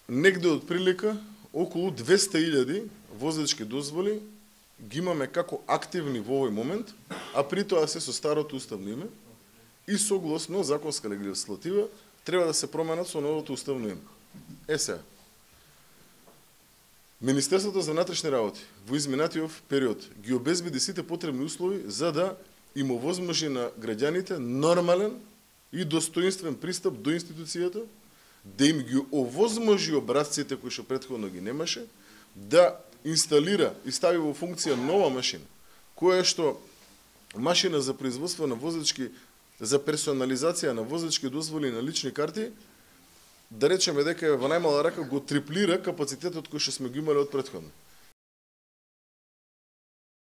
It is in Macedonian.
негде од прилика околу 200.000 возачки дозволи ги имаме како активни во овој момент, а при тоа се со старото уставно име и согласно законска легислатива треба да се променат со новото уставно име. Сега, Министерството за внатрешни работи во изминатиот период ги обезбеди сите потребни услови за да им овозможи на граѓаните нормален и достоинствен пристап до институцијата, да им ги овозможи образците кои што претходно ги немаше, да инсталира и стави во функција нова машина, која што машина за производство на возачки, за персонализација на возачки дозволи на лични карти, да речеме дека во најмала рака го триплира капацитетот кој што сме го имали од претходно.